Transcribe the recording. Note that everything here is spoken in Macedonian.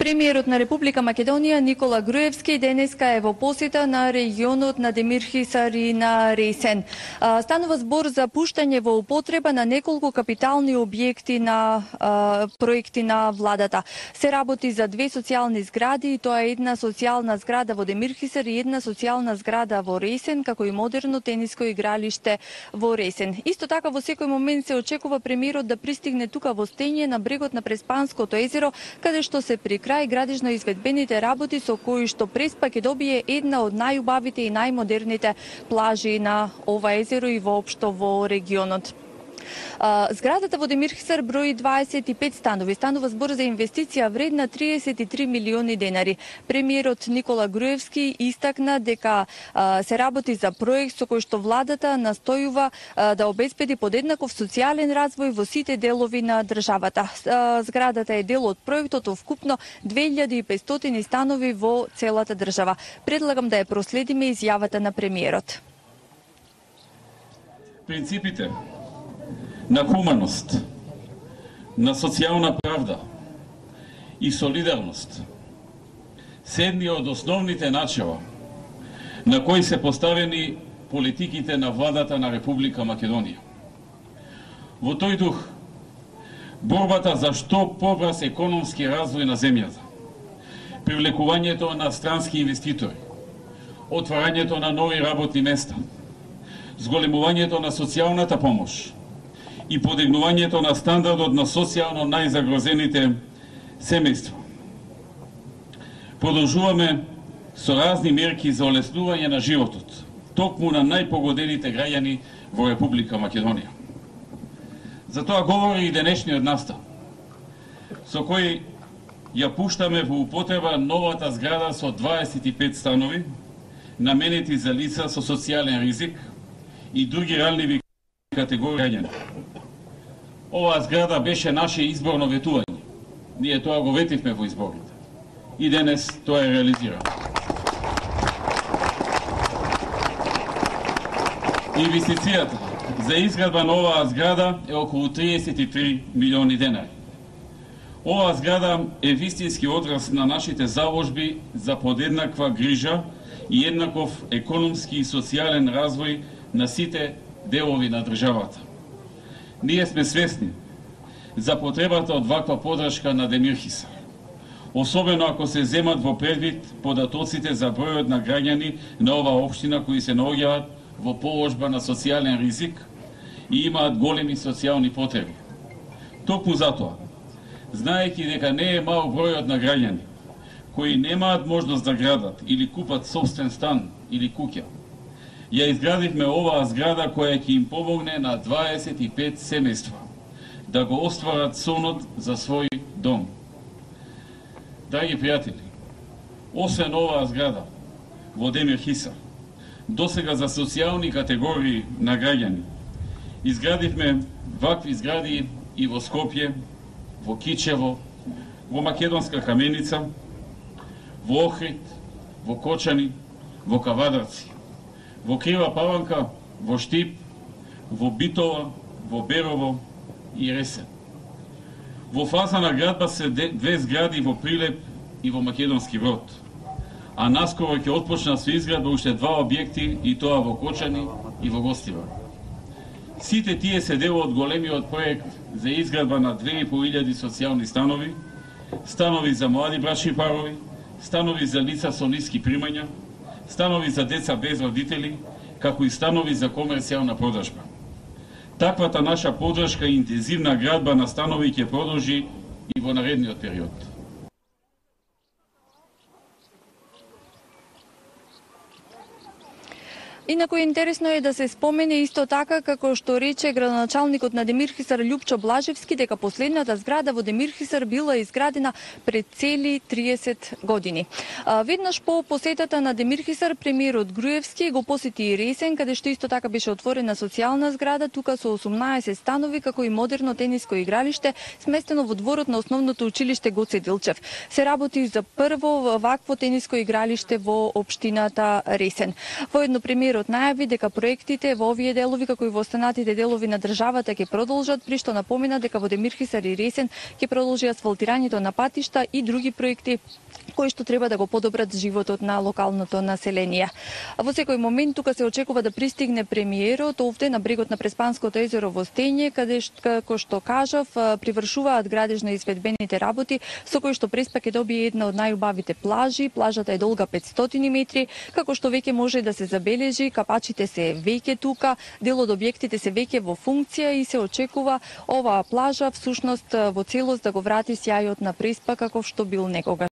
Премиерот на Република Македонија Никола Груевски денеска е во посета на регионот на Демирхисар и на Ресен. Станува збор за пуштање во употреба на неколку капитални објекти на проекти на владата. Се работи за две социјални згради, и тоа е една социјална зграда во Демирхисар и една социјална зграда во Ресен, како и модерно тениско игралиште во Ресен. Исто така во секој момент се очекува премиерот да пристигне тука во Стење на брегот на Преспанското езеро, каде што се при крај градежно изведбените работи со кои што Преспа ќе добие една од најубавите и најмодерните плажи на ова езеро и воопшто во регионот. Зградата во Демирхисар брои 25 станови. Станува збор за инвестиција вредна 33 милиони денари. Премиерот Никола Груевски истакна дека се работи за проект со кој што владата настојува да обезбеди подеднаков социјален развој во сите делови на државата. Зградата е дел од проектот вкупно 2500 станови во целата држава. Предлагам да ја проследиме изјавата на премиерот. Принципите на хуманост, на социјална правда и солидарност се едни од основните начела на кои се поставени политиките на владата на Република Македонија. Во тој дух, борбата за што побрз економски развој на земјата, привлекувањето на странски инвеститори, отварањето на нови работни места, зголемувањето на социјалната помош и подигнувањето на стандардот на социјално најзагрозените семејства. Продолжуваме со разни мерки за олеснување на животот, токму на најпогодените граѓани во Република Македонија. За тоа говори и денешниот настан, со кој ја пуштаме во употреба новата зграда со 25 станови, наменети за лица со социјален ризик и други ранливи категории граѓани. Оваа зграда беше наше изборно ветување. Ние тоа го ветивме во изборите. И денес тоа е реализирано. Инвестицијата за изградба на оваа зграда е околу 33 милиони денари. Оваа зграда е вистински одраз на нашите заложби за подеднаква грижа и еднаков економски и социјален развој на сите делови на државата. Ние сме свесни за потребата од ваква подршка на Демирхисар, особено ако се земат во предвид податоците за бројот на граѓани на оваа општина кои се наоѓаат во положба на социјален ризик и имаат големи социјални потреби. Токму затоа, знаејќи дека не е мал бројот на граѓани кои немаат можност да градат или купат собствен стан или куќа, ја изградивме оваа зграда која ќе им помогне на 25 семејства да го остварат сонот за свој дом. Драги пријатели, освен оваа зграда во Демирхисар, досега за социјални категории на граѓани, изградивме вакви згради и во Скопје, во Кичево, во Македонска Каменица, во Охрид, во Кочани, во Кавадарци, во Крива Паланка, во Штип, во Битола, во Берово и Ресен. Во фаза на градба се две згради во Прилеп и во Македонски Брод, а наскоро ќе отпочна со изградба уште два објекти, и тоа во Кочани и во Гостивар. Сите тие се дел од големиот проект за изградба на 2500 социјални станови, станови за млади брачни парови, станови за лица со ниски примања, станови за деца без родители, како и станови за комерцијална продржба. Таквата наша подршка и интензивна градба на станови ќе продолжи и во наредниот период. Инаку интересно е да се спомене исто така како што рече градоначалникот на Демирхисар Љупчо Блажевски дека последната зграда во Демирхисар била изградена пред цели 30 години. Веднаш по посетата на Демирхисар премиерот Груевски го посети и Ресен, каде што исто така беше отворена социјална зграда, тука со 18 станови како и модерно тениско игралиште сместено во дворот на основното училиште Гоце Дилчев. Се работи за прво вакво тениско игралиште во општината Ресен. Воедно премиерот премиерот најави дека проектите во овие делови, како и во останатите делови на државата ќе продолжат, при што напомена дека во Демирхисар и Ресен ќе продолжи асфалтирањето на патишта и други проекти кои што треба да го подобрат животот на локалното население. Во секој момент тука се очекува да пристигне премиерот овде на брегот на Преспанското езеро во Стење, каде како што кажав, привршуваат градежно изведбените работи, со кои што Преспа ќе добие една од најубавите плажи. Плажата е долга 500 метри, како што веќе може да се забележи, капачите се веќе тука, дел од објектите се веќе во функција и се очекува оваа плажа всушност во целост да го врати сјајот на Преспа каков што бил некогаш.